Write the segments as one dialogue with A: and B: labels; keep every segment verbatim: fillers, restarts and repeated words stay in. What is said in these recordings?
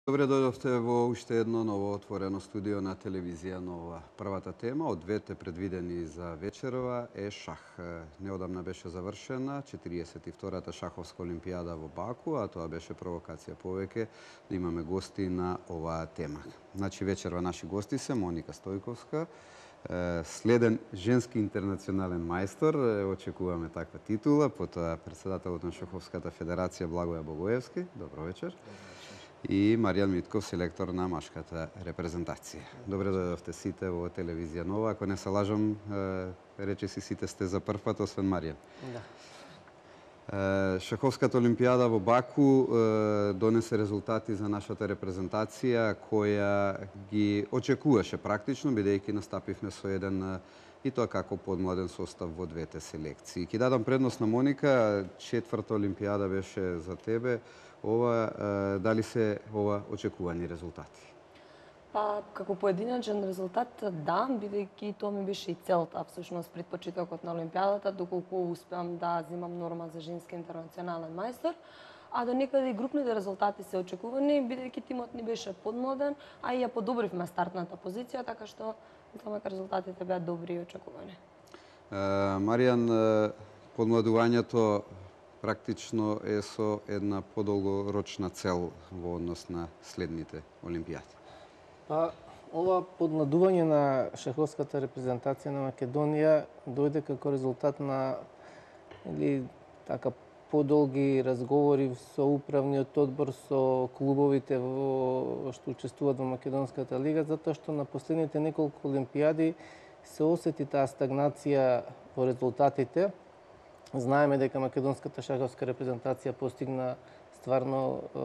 A: Добре дојдовте во уште едно ново отворено студио на телевизија Нова. Првата тема од двете предвидени за вечерова е шах. Неодамна беше завршена четириесет и втората шаховска олимпијада во Баку, а тоа беше провокација повеќе да имаме гости на оваа тема. Значи вечерва наши гости се Моника Стојковска, следен женски интернационален мајстор, очекуваме таква титула, потоа председателот на Шаховската федерација Благоја Богоевски. Добро вечер. И Маријан Митков, селектор на машката репрезентација. Добре дојдовте сите во телевизија Нова. Ако не се лажам, рече си сите сте за прв пат, освен Маријан. Да. Шаховската олимпијада во Баку донесе резултати за нашата репрезентација, која ги очекуваше практично, бидејќи настапивме со еден и тоа како подмладен состав во двете селекции. Ки дадам предност на Моника, четврта олимпијада беше за тебе. Ова, дали се ова очекувани резултати?
B: Па, како поединачен резултат, да, бидејќи тоа ми беше и целта, всушност, пред почетокот на олимпијадата, доколку успеам да земам норма за женски интернационален мајстор, а до некаде и групните резултати се очекувани, бидејќи тимот ни беше подмладен, а и ја подобривме стартната позиција, така што мислам дека резултатите беа добри и очекувани.
A: Маријан, подмладувањето практично е со една подолгорочна цел во однос на следните олимпијади.
C: Па, ова подмладување на шаховската репрезентација на Македонија дојде како резултат на или така подолги разговори со управниот одбор, со клубовите во што учествуваат во Македонската лига, затоа што на последните неколку олимпијади се осети таа стагнација во резултатите. Знаеме дека македонската шаховска репрезентација постигна стварно е,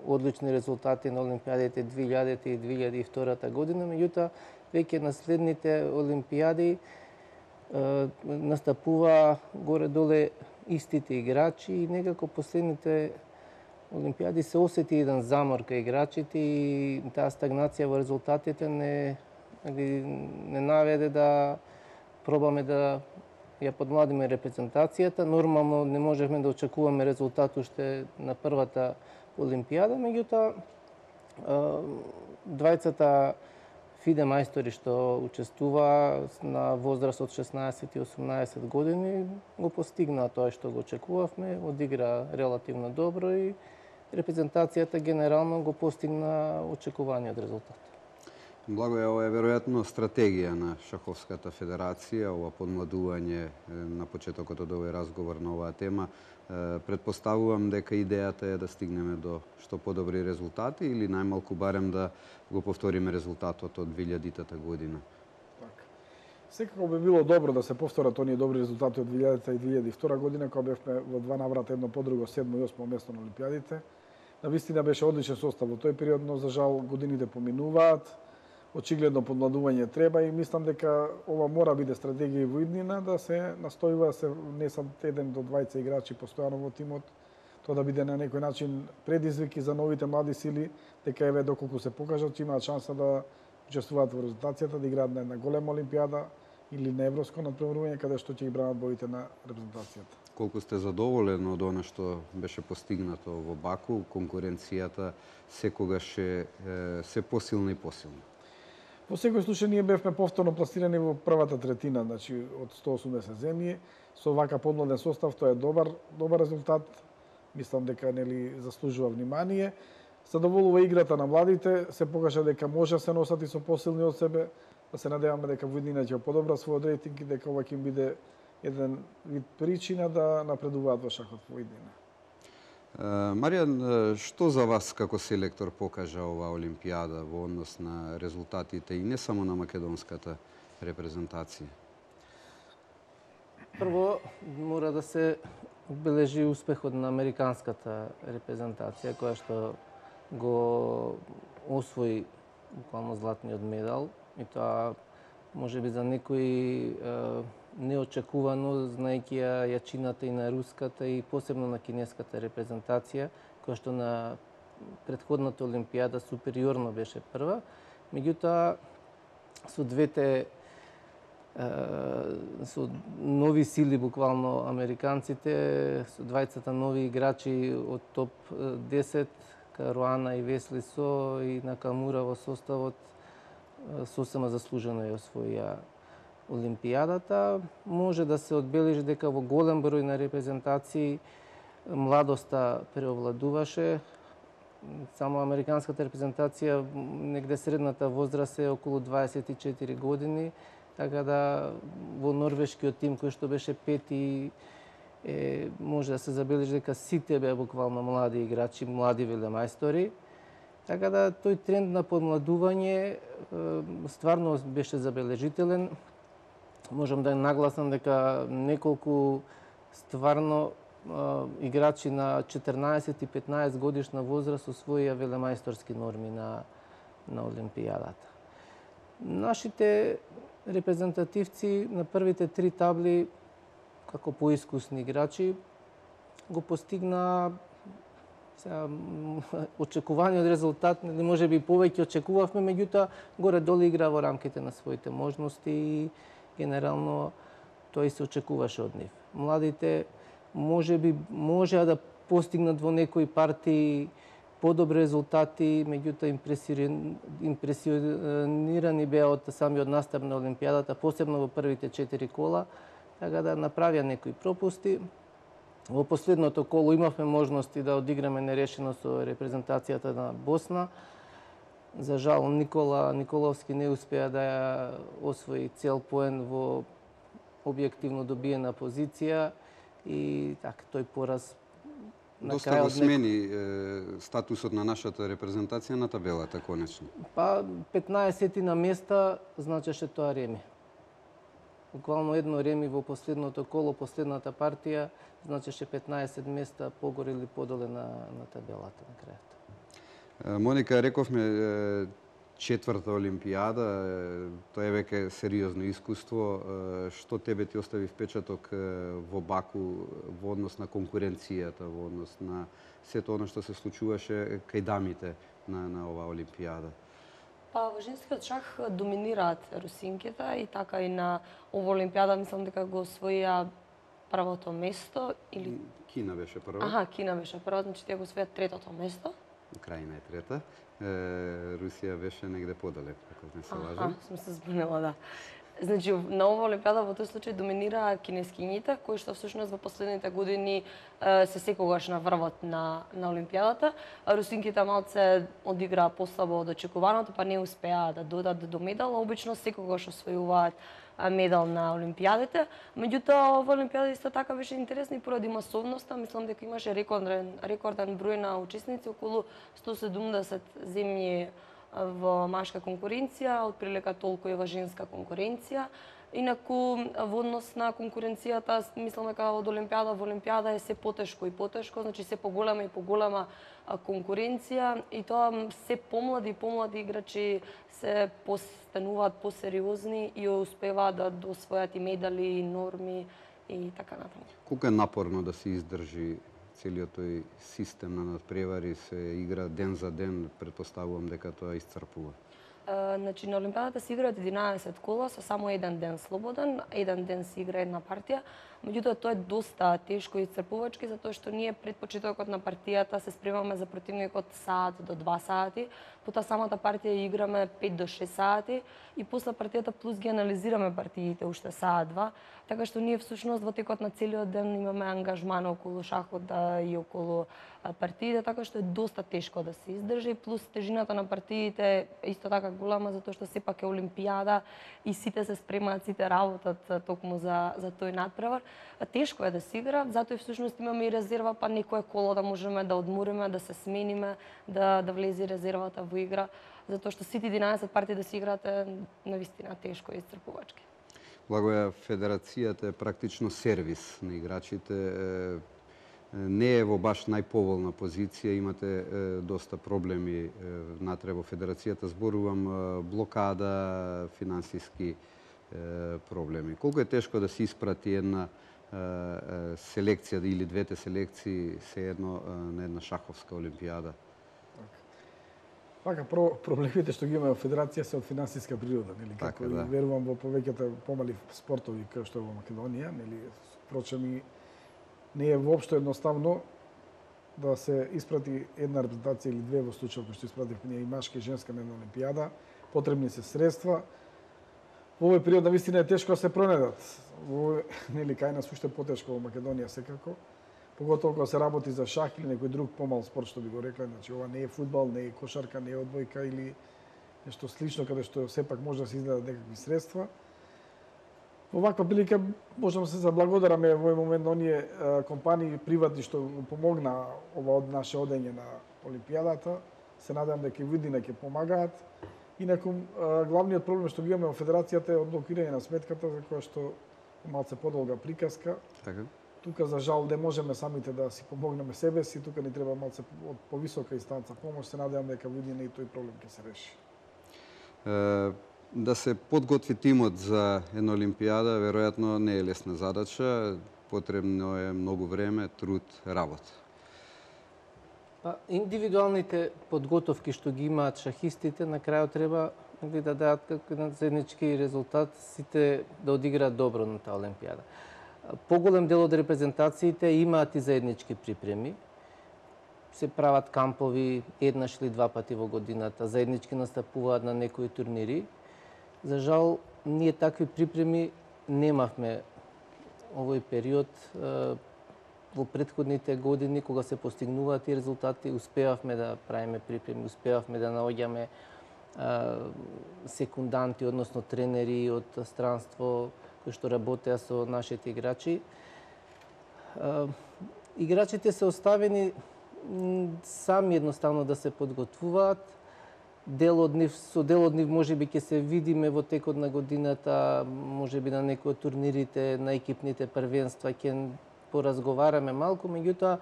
C: одлични резултати на олимпијадите две илјадата и две илјади и втората година, меѓутоа веќе на следните олимпијади е, настапува горе-доле истите играчи и некако последните олимпијади се осети еден замор кај играчите и таа стагнација во резултатите не, не наведе да пробаме да ја подмладиме репрезентацијата. Нормално не можевме да очекуваме резултат уште на првата олимпијада, меѓутоа двајцата фиде мајстори што учествува на возраст од шеснаесет и осумнаесет години го постигнаа тоа што го очекувавме, одигра релативно добро и репрезентацијата генерално го постигна очекуваниот резултат.
A: Благо е, ова е веројатно стратегија на Шаховската федерација, ова подмладување на почетокот од овој разговор на оваа тема. Предпоставувам дека идејата е да стигнеме до што подобри резултати или најмалку барем да го повториме резултатот од две илјадитата година.
D: Така. Секако би било добро да се повторат оние добри резултати од две илјадата и две илјади и втора година, кога бевме во два наврата едно по друго седмо и осмо место на олимпијадите. Навистина беше одличен состав во тој период, но за жал годините поминуваат. Очигледно подмладување треба и мислам дека ова мора биде стратегија и во иднина, да се настојува да се внесат еден до двајца играчи постојано во тимот, тоа да биде на некој начин предизвик и за новите млади сили, дека еве доколку се покажат че имаат шанса да учествуваат во резултацијата, да играат на една голема олимпијада или на европско надпреварување каде што ќе ги бранат боите на репрезентацијата.
A: Колку сте задоволен од она што беше постигнато во Баку, конкуренцијата секогаш е се посилна и посилна?
D: Во секој случај ние бевме повторно пласирани во првата третина, значи од сто осумдесет земји, со вака подмладен состав, тоа е добар добар резултат. Мислам дека нели заслужува внимание. Задоволува играта на младите, се покажа дека може да се носат и со посилни од себе, да се надеваме дека во иднина ќе подобра својот рейтинг и дека ова ќе биде еден вид причина да напредуваат во шахот во иднина.
A: Маријан, што за вас како селектор покажа оваа олимпијада во однос на резултатите и не само на македонската репрезентација?
C: Прво, мора да се одбележи успехот на американската репрезентација, која што го освои буквално златниот медал, и тоа можеби за некои неочекувано, знаејќи ја јачината и на руската и посебно на кинеската репрезентација, која што на претходната олимпијада супериорно беше прва. Меѓутоа, со двете со нови сили, буквално американците, со двајцата нови играчи од топ десет, Каруана и Весли Со и Накамура во составот сосема заслужено ја освоија Олимпијадата. Може да се одбележи дека во голем број на репрезентации младоста преовладуваше. Само американската репрезентација, негде средната возраст е околу дваесет и четири години, така да во норвешкиот тим кој што беше пети, е, може да се забележи дека сите беа буквално млади играчи, млади велемајстори. Така да тој тренд на подмладување стварно беше забележителен. Можам да нагласам дека неколку стварно играчи на четрнаесет и петнаесет годишна возраст освоија велемајсторски норми на, на Олимпијадата. Нашите репрезентативци на првите три табли, како поискусни играчи, го постигна сега, очекуваниот резултат, може би повеќе очекувавме, меѓутоа горе-долу игра во рамките на своите можности и генерално тој се очекуваше од нив. Младите може би можеа да постигнат во некои партии подобри резултати, меѓутоа импресионирани беа од самиот настап на Олимпијадата, посебно во првите четири кола, така да направија некои пропусти. Во последното коло имавме можности да одиграме нерешено со репрезентацијата на Босна. За жал Никола Николовски не успеа да ја освои цел поен во објективно добиена позиција и така тој пораз на
A: Доста
C: крајот
A: го смени е, статусот на нашата репрезентација на табелата конечно.
C: Па петнаесет на места значеше тоа реми. Буквално едно реми во последното коло, последната партија, значеше петнаесет места погоре или подоле на, на табелата на крајот.
A: Моника, рековме четврта Олимпијада, тоа е веќе сериозно искуство. Што тебе ти остави впечаток во Баку во однос на конкуренцијата, во однос на сето оно што се случуваше кај дамите на, на оваа Олимпијада?
B: Па во женскиот шах доминираат русинките и така и на оваа Олимпијада мислам дека го освоија првото место или
A: Кина беше прва.
B: Аха, Кина беше прва, значи тие го освоија третото место.
A: Украина е трета. Е, Русија беше негде подалек, ако не се лажам.
B: Аха, сум се збунила, да. Значи, на оваа Олимпијада во тој случај доминира кинескињите, кои што всушност во последните години е, се секогаш на врвот на, на Олимпијадата. Русинките малце одиграа послабо од очекуваното, па не успеа да додат до медал, обично секогаш освојуваат медал на Олимпијадите. Меѓутоа, оваа Олимпијада исто така беше интересна и поради масовноста. Мислам дека имаше рекорден, рекорден број на учесници, околу сто седумдесет земји во машка конкуренција, отприлика толку и во женска конкуренција. Инаку, во однос на конкуренцијата, мислам дека од Олимпијада во Олимпијада е се потешко и потешко, значи се поголема и поголема конкуренција и тоа се помлади и помлади играчи се постануваат посериозни и успеваат да освојат и медали, и норми и така натаму.
A: Колку е напорно да се издржи целиот тој систем на надпревари, се игра ден за ден, претпоставувам дека тоа исцрпува?
B: Значи, на Олимпијадата се играат единаесет кола со само еден ден слободен, еден ден се игра една партија. Меѓутоа, тоа е доста тешко и исцрпувачки, затоа што ние пред почетокот на партијата се спремаме за противникот саат до два сати, потоа самата партија играме пет до шест сати и после партијата плюс ги анализираме партиите уште саат два, така што ние всушност во текот на целиот ден имаме ангажман околу шахот да, и околу партиите, така што е доста тешко да се издржи, плюс тежината на партиите е исто така голема, затоа што сепак е Олимпијада и сите се спремаат, сите работат токму за, за тој надпревар. Тешко е да се игра, затоа и всушност имаме и резерва, па некое коло да можеме да одмориме, да се смениме, да, да влезе резервата во игра, затоа што сите единаесет партии да се играат е навистина тешко и исцрпувачки.
A: Благоја, федерацијата е практично сервис на играчите. Не е во баш најповолна позиција, имате е, доста проблеми е, натре во федерацијата, зборувам е, блокада, финансиски е, проблеми. Колку е тешко да се испрати една е, е, селекција или двете селекции се едно е, на една шаховска олимпијада?
D: Така, про, проблемите што ги има во федерација се од финансиска природа, нели,
A: така,
D: како
A: да.
D: Верувам во повеќето помали спортови како што е во Македонија, нели, впрочем и не е воопшто едноставно да се испрати една репрезентација или две во случај кој што испративме ние и машка и женска на една олимпијада. Потребни се средства. Во овој период навистина е тешко да се пронедат. Во нели кај нас уште потешко во Македонија секако. Поготово кога се работи за шах или некој друг помал спорт што би го рекле, значи ова не е фудбал, не е кошарка, не е одбојка или нешто слично каде што сепак може да се изгледат некакви средства. Во ваква прилика можам да се заблагодараме во овој момент на оние компании приватни што помогна ова од наше одење на олимпијадата. Се надевам дека и видина ќе помагаат. Инаку главниот проблем што ги имаме во федерацијата е одблокирање на сметката за која што малце подолга приказка.
A: Така.
D: Тука за жал не можеме самите да си помогнеме себе си, тука ни треба малце од повисока инстанца помош. Се надевам дека видина и тој проблем ќе се реши.
A: Е, да се подготви тимот за една олимпијада, веројатно не е лесна задача, потребно е многу време, труд, работа.
C: Па, индивидуалните подготовки што ги имаат шахистите, на крајот треба да дадат како еден заеднички резултат, сите да одиграат добро на таа олимпијада. Поголем дел од репрезентациите имаат и заеднички припреми. Се прават кампови еднаш или два пати во годината, заеднички настапуваат на некои турнири. За жал, ние такви припреми немавме овој период. Во претходните години, кога се постигнуваат тие резултати, успевавме да правиме припреми, успевавме да наоѓаме секунданти, односно тренери од странство, кои што работеа со нашите играчи. Играчите се оставени сами едноставно да се подготвуваат. Дел од нив, со дел од нив можеби ќе се видиме во текот на годината, можеби на некои од турнирите, на екипните првенства ќе поразговараме малку, меѓутоа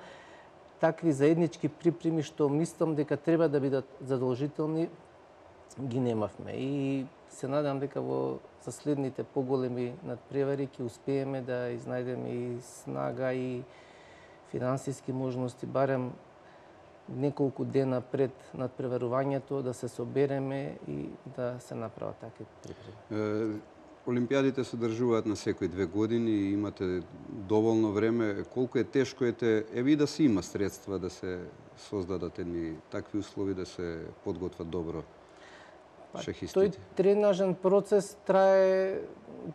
C: такви заеднички припреми што мислам дека треба да бидат задолжителни, ги немавме. И се надам дека во за следните поголеми надпревари ќе успееме да изнајдеме и снага и финансиски можности, барем неколку дена пред надпреварувањето да се собереме и да се направат такви припреми.
A: Олимпијадите се одржуваат на секои две години и имате доволно време. Колку е тешко ете, еви и да се има средства да се создадат едни такви услови да се подготват добро шахистите?
C: Тој тренажен процес трае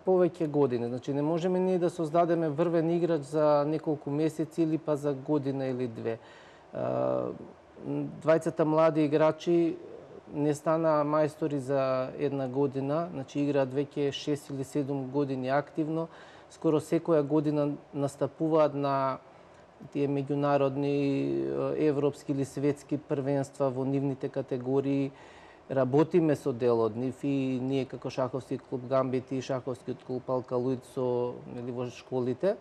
C: повеќе години. Значи не можеме ние да создадеме врвен играч за неколку месеци или па за година или две. Двајцата млади играчи не стана мајстори за една година, значи играат веќе шест или седум години активно. Скоро секоја година настапуваат на тие меѓународни, европски или светски првенства во нивните категории. Работиме со дел од нив и ние како шаховски клуб Гамбит и шаховскиот клуб Алкалуид со нели во школите.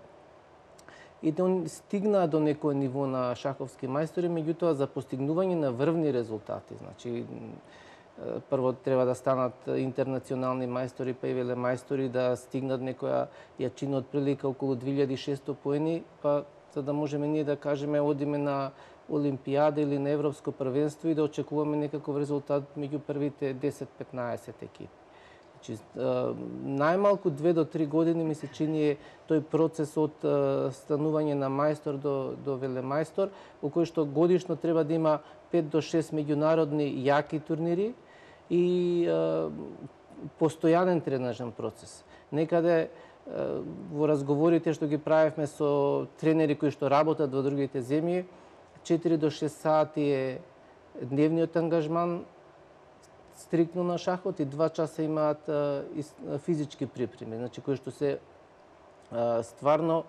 C: И да стигнаа до некој ниво на шаховски мајстори, меѓутоа за постигнување на врвни резултати. Значи, прво треба да станат интернационални мајстори, па и велемајстори, да стигнат некоја јачина од прилика околу две илјади и шестоста поени, па за да можеме ние да кажеме одиме на Олимпијада или на Европско првенство и да очекуваме некаков резултат меѓу првите десет-петнаесет екипи. Значи, најмалку две до три години ми се чини тој процес од станување на мајстор до, до велемајстор, во кој што годишно треба да има пет до шест меѓународни јаки турнири и е, постојанен тренажен процес. Некаде е, во разговорите што ги правевме со тренери кои што работат во другите земји, четири до шест сати е дневниот ангажман стриктно на шахот и два часа имаат а, и, физички припреми, значи кои што се а, стварно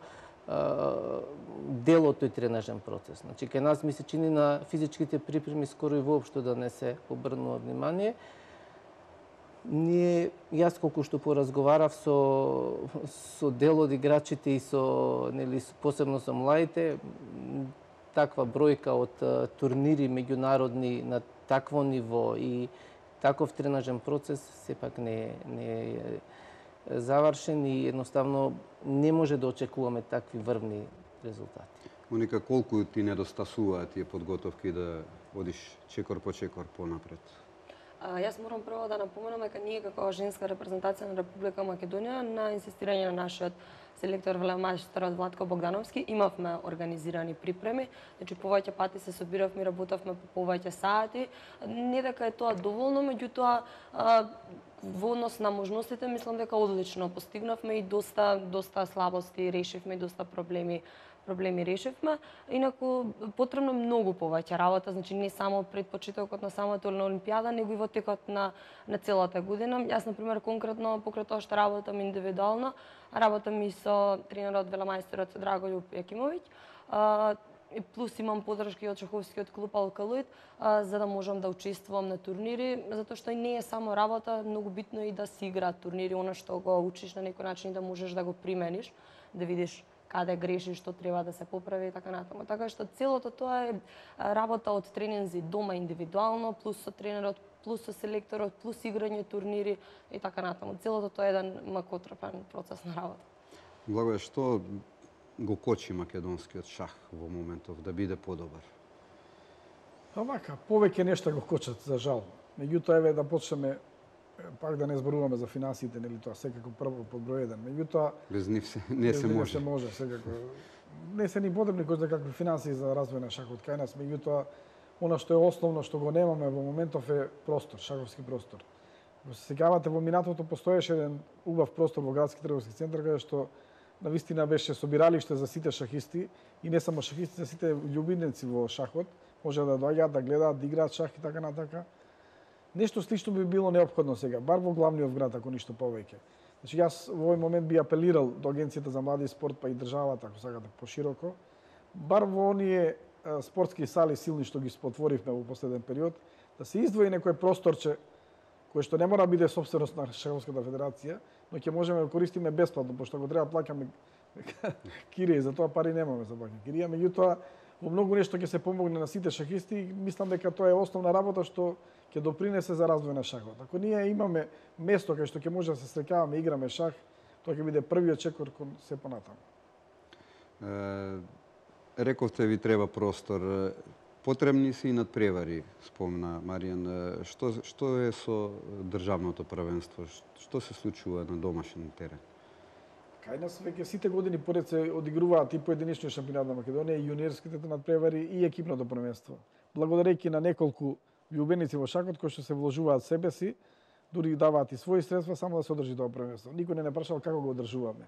C: а, дел од тој тренажен процес. Значи кај нас ми се чини на физичките припреми скоро и воопшто да не се обрнува внимание. Ние, јас колку што поразговарав со, со дел од играчите и со, нели, посебно со младите, таква бројка од а, турнири меѓународни на такво ниво и таков тренажен процес сепак не, не е завршен и едноставно не може да очекуваме такви врвни резултати.
A: Моника, колку ти недостасуваат тие подготовки да одиш чекор по чекор понапред?
B: А, јас морам прво да напоменам дека ние како женска репрезентација на Република Македонија на инсистирање на нашиот селектор велемајсторот Владко Богдановски имавме организирани припреми, значи повеќе пати се собиравме и работевме по повеќе сати. Не дека е тоа доволно, меѓутоа во однос на можностите мислам дека одлично постигнавме и доста доста слабости решивме и доста проблеми проблеми решивме. Инаку потребно многу повеќе работа, значи не само пред почетокот на самата Олимпијада, него и во текот на на целата година. Јас на пример конкретно покрај тоа што работам индивидуално, работам и со тренерот велемајсторот Драголюб Јакимовиќ. И плюс имам подршки од шаховскиот клуб Алкалоид, за да можам да учествувам на турнири, затоа што и не е само работа, многу битно е и да се играат турнири, она што го учиш на некој начин да можеш да го примениш, да видиш каде грешиш, што треба да се поправи и така натаму. Така што целото тоа е работа од тренинзи дома индивидуално, плюс со тренерот, плюс со селекторот, плюс играње турнири и така натаму. Целото тоа е еден макотрпен процес на работа.
A: Благое, што го кочи македонскиот шах во моментов да биде подобар?
D: Овака, повеќе нешта го кочат, за жал. Меѓутоа, еве да почнеме, пак да не зборуваме за финансите, нели тоа секако прво под број еден. Меѓутоа,
A: без нив се, не се може.
D: Не се може, секако. Не се ни потребни кој знае какви финансии за развој на шахот кај нас, меѓутоа, она што е основно што го немаме во моментов е простор, шаховски простор. Ако се сеќавате, во минатото постоеше еден убав простор во градски трговски центар каде што навистина беше собиралиште за сите шахисти и не само шахисти, за сите љубителници во шахот, може да доаѓаат, да гледаат, да играат шах и така натака. Нешто слично би било неопходно сега, бар во главниот град, ако ништо повеќе. Значи, јас во овој момент би апелирал до Агенцијата за млади и спорт, па и државата, ако сакате пошироко, бар во оние спортски сали силни што ги спотворивме во последен период, да се издвои некој просторче кој што не мора да биде собственост на Шаховската федерација, но ќе можеме да користиме бесплатно, пошто го треба плаќаме кирија, за тоа пари немаме за плаќање кирија, меѓутоа во многу нешто ќе се помогне на сите шахисти и мислам дека тоа е основна работа што ќе допринесе за развој на шахот. Ако ние имаме место кај што ќе може да се среќаваме и играме шах, тоа ќе биде првиот чекор кон се понатаму.
A: Рековте ви треба простор. Потребни се и надпревари, спомна Маријан. Што, што е со државното првенство? Што се случува на домашен терен?
D: Кај нас веќе сите години поред се одигруваат и поединечни шампионат на Македонија, и јуниорските надпревари, и екипното првенство. Благодарејќи на неколку љубеници во шахот кои што се вложуваат себе си, дури даваат и своји средства само да се одржи тоа првенство. Никој не не прашал како го одржуваме.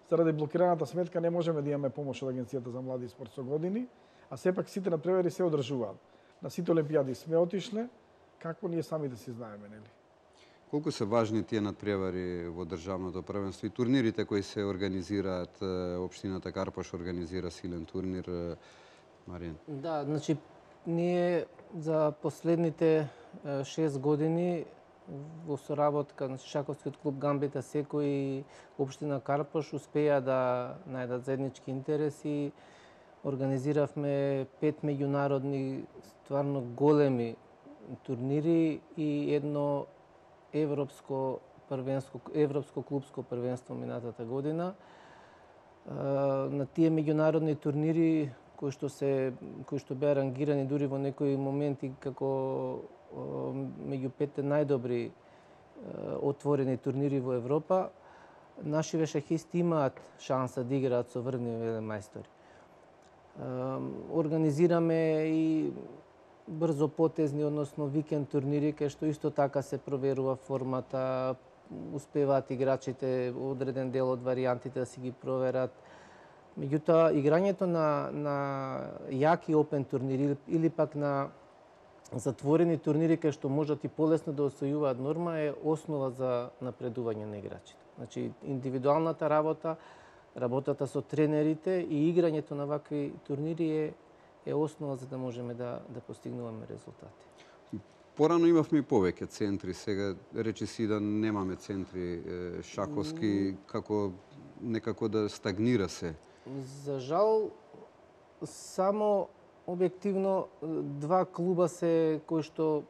D: Заради блокираната сметка не можеме да имаме помош од Агенцијата за млади и спорт со години, а сепак сите надпревари се одржуваат. На сите олимпијади сме отишле, како ние сами да си знаеме, нели?
A: Колку се важни тие надпревари во државното првенство и турнирите кои се организираат? Општината Карпош организира силен турнир, Маријан.
C: Да, значи ние за последните шест години во соработка на шаховскиот клуб Гамбита Секо и општина Карпош успеа да најдат заеднички интереси. Организиравме пет меѓународни стварно големи турнири и едно европско првенство, европско клубско првенство минатата година. На тие меѓународни турнири кои што се кои што беа рангирани дури во некои моменти како меѓу петте најдобри отворени турнири во Европа, нашиве шахисти имаат шанса да играат со врвни велемајстори. Организираме и брзо потезни, односно викенд турнири, кај што исто така се проверува формата, успеваат играчите одреден дел од варијантите да си ги проверат. Меѓутоа, играњето на, на јаки опен турнири или пак на затворени турнири кај што можат и полесно да освојуваат норма е основа за напредување на играчите. Значи, индивидуалната работа, работата со тренерите и играњето на вакви турнири е, е основа за да можеме да, да постигнуваме резултати.
A: Порано имавме и повеќе центри, сега речи си да немаме центри шаховски, како некако да стагнира се.
C: За жал, само објективно два клуба се кои што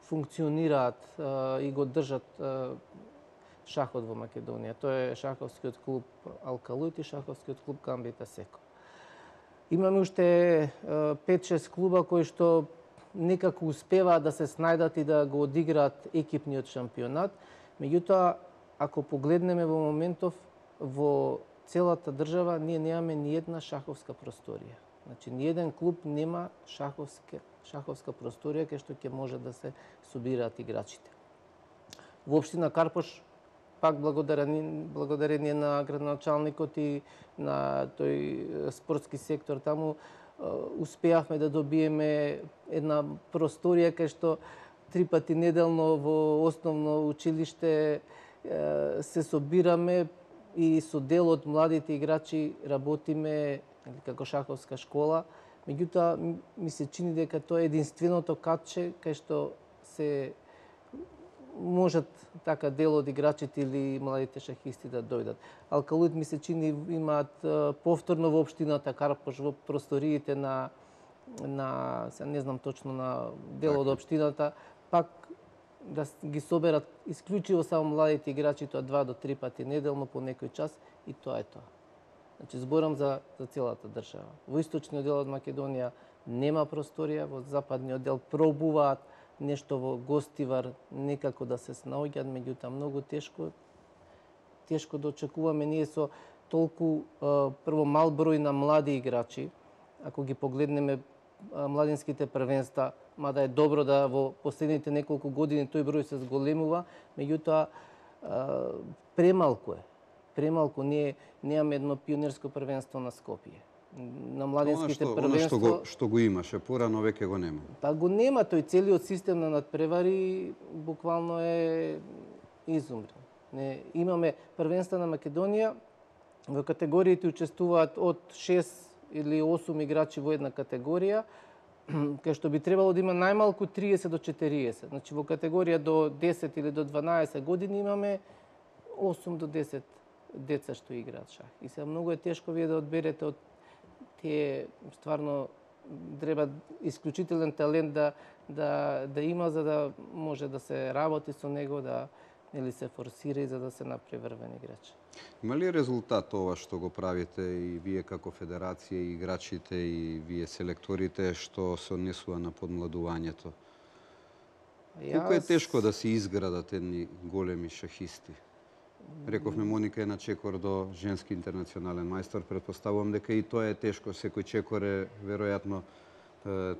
C: функционираат а, и го држат а, шахот во Македонија. Тоа е шаховскиот клуб Алкалоид и шаховскиот клуб Гамбита Секо. Имаме уште пет-шест клуба кои што некако успеваат да се снајдат и да го одиграат екипниот шампионат. Меѓутоа, ако погледнеме во моментов, во целата држава ние немаме ни една шаховска просторија. Значи, ни еден клуб нема шаховска, шаховска просторија кај што ќе може да се собираат играчите. Во општина Карпош, пак благодарение, благодарение на градоначалникот и на тој спортски сектор таму, успеавме да добиеме една просторија кај што три пати неделно во основно училиште се собираме и со дел од младите играчи работиме како шаховска школа. Меѓутоа, ми се чини дека тоа е единственото катче кај што се можат така дел од играчите или младите шахисти да дојдат. Алкалуид ми се чини имаат повторно во општината Карпош во просториите на на се не знам точно на дел од општината, пак да ги соберат исклучиво само младите играчи, тоа два до три пати неделно по некој час и тоа е тоа. Значи зборам за за целата држава. Во источниот дел од Македонија нема просторија, во западниот дел пробуваат нешто во Гостивар некако да се снаоѓаат, меѓутоа многу тешко тешко да очекуваме ние со толку прво мал број на млади играчи. Ако ги погледнеме младинските првенства, мада е добро да во последните неколку години тој број се зголемува, меѓутоа премалку е. Премалку ние немаме едно пионерско првенство на Скопје. На младинските
A: Она што,
C: првенство...
A: Она што го, што го имаше порано, веќе го нема.
C: Па го нема, тој целиот систем на надпревари буквално е изумрен. Не, имаме првенства на Македонија, во категориите учествуваат од шест или осум играчи во една категорија, кај што би требало да има најмалку триесет до четириесет. Значи во категорија до десет или до дванаесет години имаме осум до десет деца што играат шах. И сега многу е тешко вие да одберете од тие, стварно треба исклучителен талент да да да има за да може да се работи со него, да или се форсира и за да се направи врвен играч.
A: Има ли резултат ова што го правите и вие како федерација, и играчите, и вие селекторите, што се однесува на подмладувањето? Колку е тешко да се изградат едни големи шахисти? Рековме Моника е на чекор до женски интернационален мајстор, претпоставувам дека и тоа е тешко, секој чекор е веројатно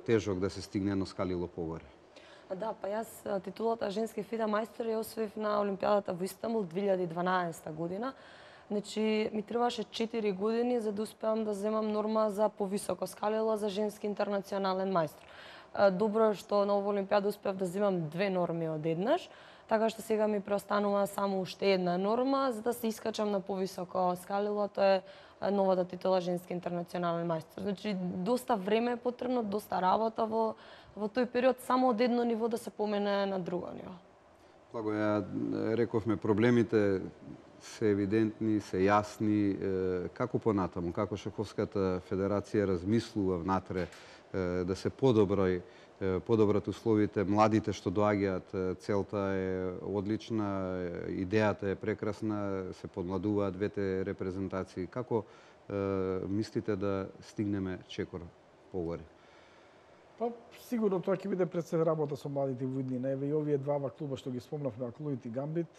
A: тежок да се стигне едно скалило погоре.
B: Да, па јас титулата женски фида мајстор ја освоив на Олимпијадата во Истанбул две илјади и дванаесета година. Значи, ми требаше четири години за да успеам да земам норма за повисоко скалило за женски интернационален мајстор. Добро е што на оваа Олимпијада успеав да земам две норми одеднаш, така што сега ми преостанува само уште една норма за да се искачам на повисоко скалило, тоа е новата титула женски интернационален мајстор. Значи, доста време е потребно, доста работа во во тој период, само од едно ниво да се помене на друго ниво.
A: Благо, ја рековме, проблемите се евидентни, се јасни. Како понатаму, како Шаховската федерација размислува внатре да се подобри подобрат условите, младите што доаѓаат, целта е одлична, идејата е прекрасна, се подмладуваат двете репрезентации. Како мислите да стигнеме чекор погоре?
D: Па, сигурно тоа ќе биде пред се работа со младите во иднина. Еве и овие двава клуба што ги спомнавме, Алкалуид и Гамбит,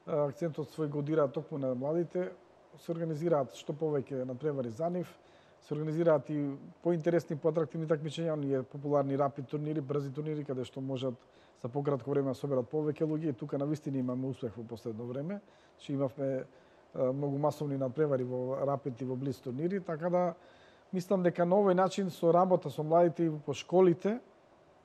D: акцентот свој го дираат токму на младите, се организираат што повеќе надпревари за нив, се организираат и поинтересни, поатрактивни такмичења, оние популарни рапид турнири, брзи турнири, каде што можат за пократко време да соберат повеќе луѓе. И тука навистина имаме успех во последно време. Че имавме многу масовни надпревари во рапид и во блиц турнири, така да мислам дека на овој начин со работа со младите и по школите,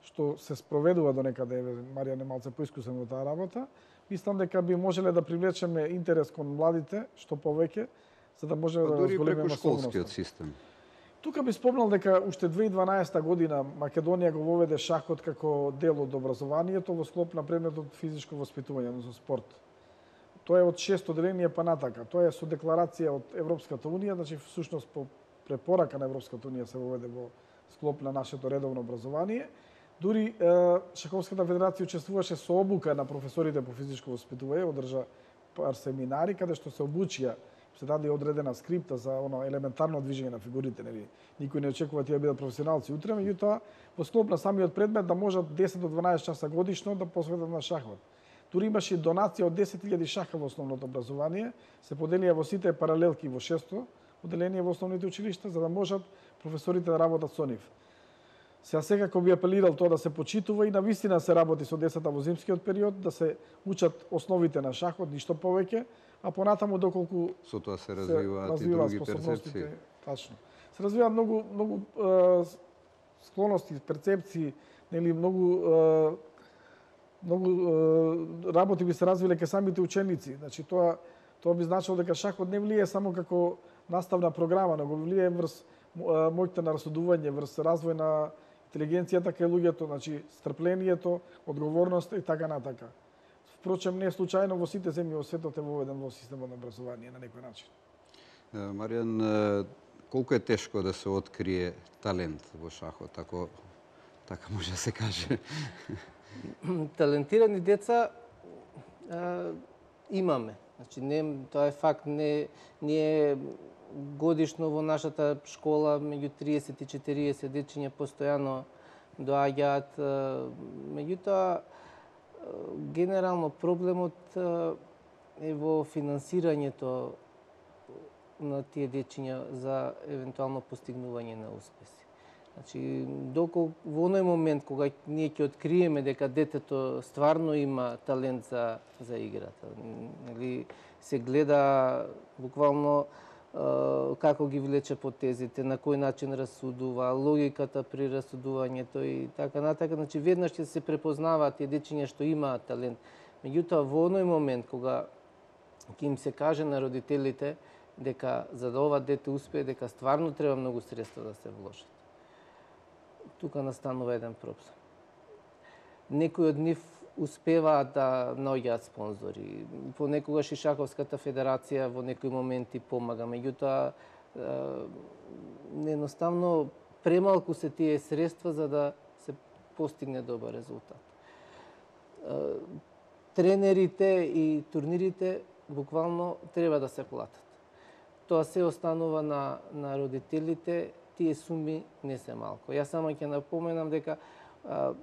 D: што се спроведува до некаде, Марија не малце поискусен во таа работа, мислам дека би можеле да привлечеме интерес кон младите што повеќе, за да може да
A: дури
D: зголемиме
A: преку
D: масовноста.
A: школскиот систем.
D: Тука би спомнал дека уште две илјади и дванаесета година Македонија го воведе шахот како дел од образованието во склоп на предметот физичко воспитување, односно спорт. Тоа е од шесто одделение па натака. Тоа е со декларација од Европската унија, значи всушност по препорака на Европската унија се воведе во склоп на нашето редовно образование. Дури е, Шаховската федерација учествуваше со обука на професорите по физичко воспитување, одржа пар семинари каде што се обучија се даде одредена скрипта за оно елементарно движење на фигурите, нели. Никој не очекува тие да бидат професионалци утре, меѓутоа во склоп на самиот предмет да можат десет до дванаесет часа годишно да посветат на шахмат. Дури имаше донација од десет илјади шаха во основното образование, се поделија во сите паралелки во шесто оделение во основните училишта за да можат професорите да работат со нив. Сега секако би апелирал тоа да се почитува и навистина се работи со децата во зимскиот период, да се учат основите на шахот, ништо повеќе, а понатаму доколку
A: со тоа се развиваат и други перцепции.
D: Тачно. Се развиваат многу многу е, склоности, перцепции, нели многу е, многу е, работи би се развиле кај самите ученици. Значи тоа тоа би значило дека шахот не влие само како наставна програма, но го влие врз моќта на расудување, врз развој на интелигенцијата кај луѓето, значи стрплението, одговорноста и така натака. Впрочем, не е случајно во сите земји во светот е воведен во системот на образование на некој начин.
A: Маријан, колку е тешко да се открие талент во шахот, ако така може да се каже?
C: Талентирани деца а, имаме. Значи, не, тоа е факт. Не, ние годишно во нашата школа меѓу триесет и четириесет дечиња постојано доаѓаат. Меѓутоа, генерално проблемот е во финансирањето на тие дечиња за евентуално постигнување на успеси. Значи, доколку во оној момент кога ние ќе откриеме дека детето стварно има талент за за играта, нели се гледа буквално како ги влече потезите, на кој начин расудува, логиката при расудувањето и така натака. Значи, веднаш ќе се препознаваат тие дечиња што имаат талент. Меѓутоа, во оној момент кога ќе им се каже на родителите дека за да ова дете успее, дека стварно треба многу средства да се вложат, тука настанува еден проблем. Некои од нив успеваат да наоѓаат спонзори. Понекогаш и Шаховската федерација во некои моменти помага, меѓутоа едноставно премалку се тие средства за да се постигне добар резултат. Тренерите и турнирите буквално треба да се платат. Тоа се останува на, на родителите, тие суми не се малку. Јас само ќе напоменам дека а,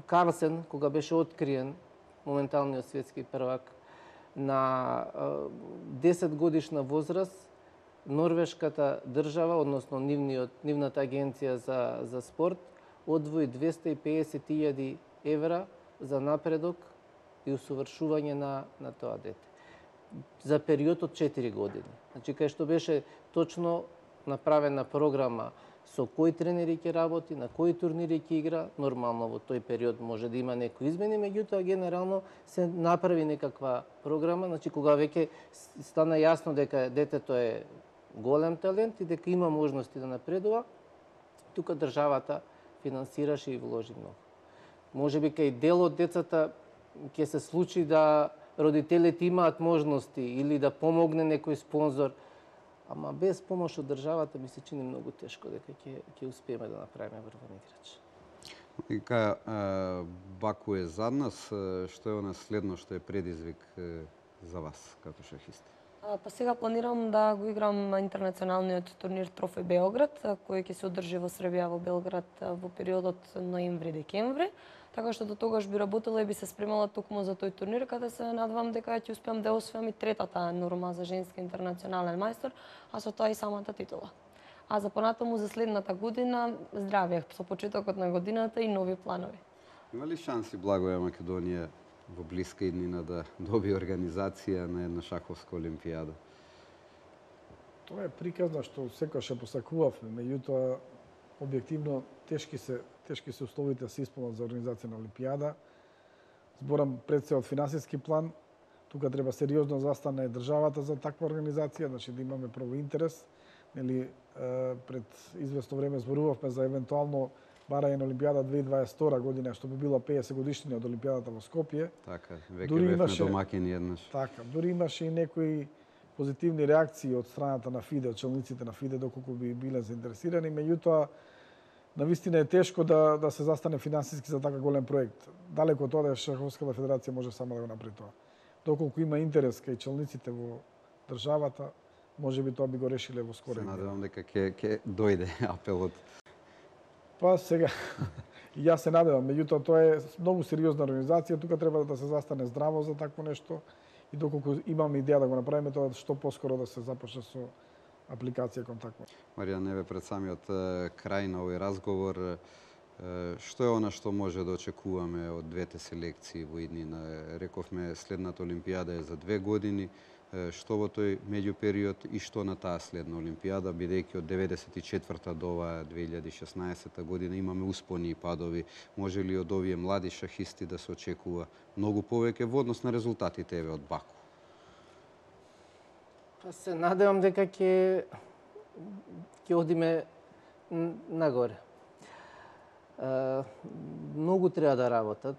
C: Карлсен, кога беше откриен, моменталниот светски првак, на а, десет годишна возраст, норвешката држава, односно нивниот, нивната агенција за, за спорт, одвои двесте и педесет илјади евра за напредок и усовршување на, на тоа дете. За период од четири години. Значи, кај што беше точно направена програма со кои тренери ќе работи, на кои турнири ќе игра, нормално во тој период може да има некои измени, меѓутоа генерално се направи некаква програма, значи кога веќе стана јасно дека детето е голем талент и дека има можности да напредува, тука државата финансираше и вложи многу. Можеби кај дел од децата ќе се случи да родителите имаат можности или да помогне некој спонзор, ама без помош од државата ми се чини многу тешко дека ќе ќе успееме да направиме врвен играч.
A: И кај Баку е зад нас, што е она следно што е предизвик за вас како шахисти?
B: Па сега планирам да го играм интернационалниот турнир Трофеј Белград, кој ќе се одржи во Србија, во Белград во периодот ноември-декември. Така што до тогаш би работела и би се спремала токму за тој турнир, каде се надвам дека ќе успеам да освојам и третата норма за женски интернационален мајстор, а со тоа и самата титула. А за понатаму за следната година здравје со почетокот на годината и нови планови.
A: Има ли шанси Благоја Македонија во блиска иднина да добие организација на една шаховска олимпијада?
D: Тоа е приказна што секогаш ја посакувавме, меѓутоа објективно тешки се тешки се условите да се исполнат за организација на олимпијада. Зборам пред се од финансиски план, тука треба сериозно застане државата за таква организација, значи да имаме прво интерес. Нели пред известно време зборувавме за евентуално барање на олимпијада две илјади дваесет и втора година, што би било педесет годишнина од олимпијадата во Скопје.
A: Така, веќе бевме домакини еднаш.
D: Така, дури имаше и некои позитивни реакции од страната на ФИДЕ, челниците на ФИДЕ, доколку би биле заинтересирани, меѓутоа навистина е тешко да, да се застане финансиски за така голем проект. Далеко од тоа да Шаховската федерација може сама да го направи тоа. Доколку има интерес кај челниците во државата, може би тоа би го решиле во
A: Се
D: скорен ден.
A: надевам дека ќе ќе дојде апелот.
D: Па сега, и јас се надевам, меѓутоа тоа е многу сериозна организација, тука треба да се застане здраво за такво нешто и доколку имаме идеја да го направиме тоа што поскоро да се започне со апликација кон такво.
A: Марија, неве пред самиот е, крај на овој разговор, е, што е она што може да очекуваме од двете селекции во иднина? Рековме следната Олимпијада е за две години, е, што во тој меѓупериод и што на таа следна Олимпијада, бидејќи од деветдесет и четврта до оваа две илјади и шеснаесетта година имаме успони и падови. Може ли од овие млади шахисти да се очекува многу повеќе во однос на резултатите еве од Баку?
C: Па се надевам дека ќе ќе одиме н- нагоре. Е, многу треба да работат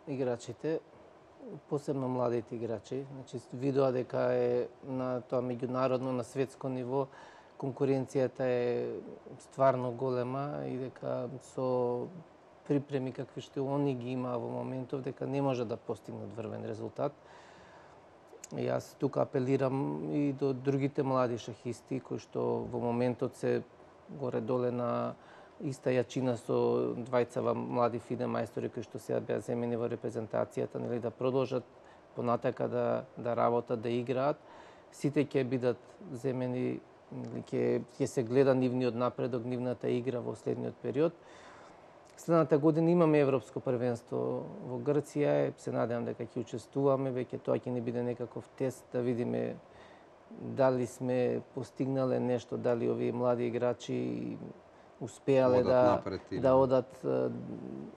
C: играчите, посебно младите играчи. Значи видоа дека е на тоа меѓународно, на светско ниво конкуренцијата е стварно голема и дека со припреми какви што они ги има во моментов, дека не може да постигнат врвен резултат. И јас тука апелирам и до другите млади шахисти кои што во моментот се горе-доле на иста јачина со двајцава млади фиде мајстори кои што сега беа земени во репрезентацијата, нели, да продолжат понатака да да работат, да играат. Сите ќе бидат земени, нели, ќе ќе се гледа нивниот напредок, нивната игра во следниот период. Следната година имаме Европско првенство во Грција, се надевам дека ќе учествуваме, веќе тоа ќе ни биде некаков тест да видиме дали сме постигнале нешто, дали овие млади играчи успеале
A: Одат
C: да
A: напред или
C: да
A: не?
C: одат. е,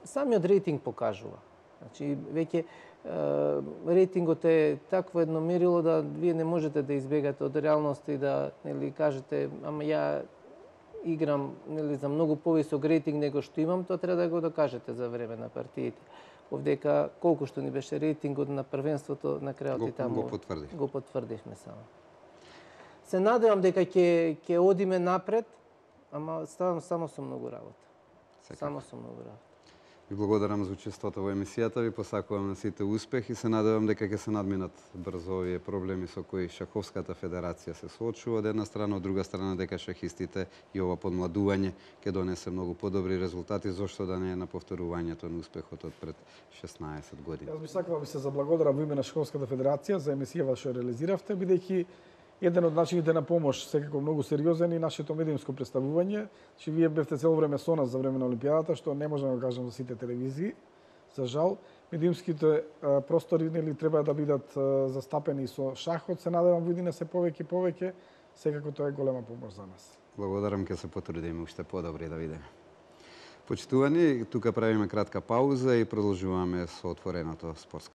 C: Самиот рейтинг покажува. Значи веќе е, рейтингот е такво едно мерило да вие не можете да избегате од реалноста и да, нели, кажете, ама ја играм, нели, за многу повисок рейтинг него што имам, тоа треба да го докажете за време на партиите. Овдека колку што ни беше рейтингот на првенството, на крајот
A: Го-
C: и таму
A: го потврди.
C: го потврдивме само. Се надевам дека ќе ќе одиме напред, ама ставам само со многу работа.
A: Секако.
C: Само со многу работа.
A: Ви благодарам за учеството во емисијата, ви посакувам на сите успех и се надевам дека ќе се надминат брзо овие проблеми со кои Шаховската федерација се соочува од една страна, од друга страна дека шахистите и ова подмладување ќе донесе многу подобри резултати, зошто да не е на повторувањето на успехот од пред шеснаесет години.
D: Јас би сакал да ви се заблагодарам во име на Шаховската федерација за емисијава што ја реализиравте, бидејќи еден од начините на помош, секако многу сериозен, и нашето медиумско представување. Че вие бевте цело време со нас за време на Олимпијадата, што не можам да кажам за сите телевизии. За жал, медиумските а, простори, нели, треба да бидат а, застапени со шахот. Се надевам во иднина се повеќе и повеќе. Секако тоа е голема помош за нас.
A: Благодарам, ќе се потрудиме уште подобри да видиме. Почитувани, тука правиме кратка пауза и продолжуваме со отвореното спортско